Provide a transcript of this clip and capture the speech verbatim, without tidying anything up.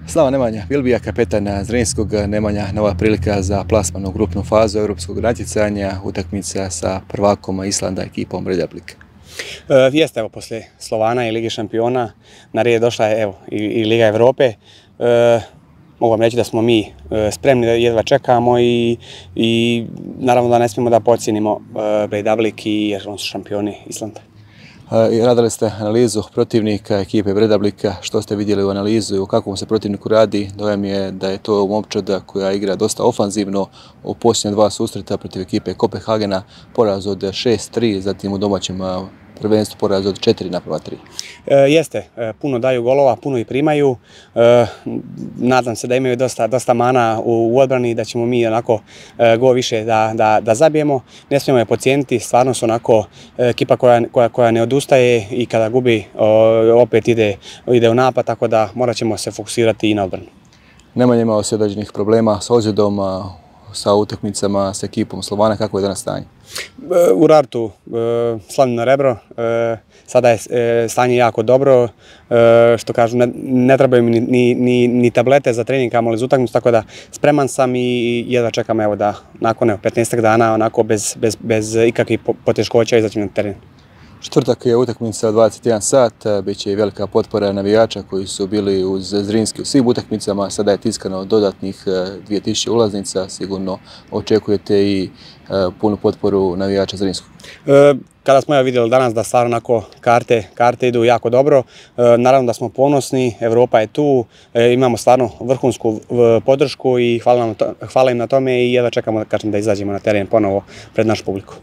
Slava Nemanja Bilbija, kapetan Zrinskog. Nemanja, nova prilika za plasman u grupnu fazu europskog natjecanja, utakmica sa prvakom Islanda, ekipom Bredablika. E, jeste, evo, poslije Slovana i Lige šampiona na red je došla evo, i, i Liga Evrope. E, mogu vam reći da smo mi e, spremni, da jedva čekamo i, i naravno da ne smijemo da podcijenimo e, Bredablik i jer oni su šampioni Islanda. Radili ste analizu protivnika ekipe Bredablika, što ste vidjeli u analizu i u kakvom se protivniku radi? Dojam je da je to momčad koja igra dosta ofanzivno u posljednja dva susreta protiv ekipe Kopenhagena, poraz od šest tri, zatim u domaćem prvenstvu poraz od četiri naprema tri. E, jeste, e, puno daju golova, puno i primaju. E, nadam se da imaju dosta, dosta mana u, u odbrani, da ćemo mi onako e, go više da, da, da zabijemo. Ne smijemo je podcijeniti, stvarno su onako ekipa koja, koja, koja ne odustaje i kada gubi o, opet ide, ide u napad, tako da morat ćemo se fokusirati i na odbranu. Nemanja imao se određenih problema s ozljedom, sa utakmicama s ekipom Slovana, kako je danas stanje? U Rartu slavljeno rebro, sada je stanje jako dobro, što kažu ne trebaju mi ni, ni, ni tablete za trening, kamoli za utakmicu, tako da spreman sam i jedva čekam evo da nakon petnaestak dana onako bez, bez, bez ikakvih poteškoća izaći na teren. Četvrtak je utakmica dvadeset jedan sat, bit će i velika potpora navijača koji su bili uz Zrinski u svim utakmicama, sada je tiskano dodatnih dvije tisuće ulaznica, sigurno očekujete i punu potporu navijača Zrinskog. E, kada smo ja vidjeli danas da stvarno onako karte, karte idu jako dobro, e, naravno da smo ponosni, Evropa je tu, e, imamo stvarno vrhunsku podršku i hvala, nam to, hvala im na tome i jedva čekamo da, kažem, da izađemo na teren ponovo pred našu publiku.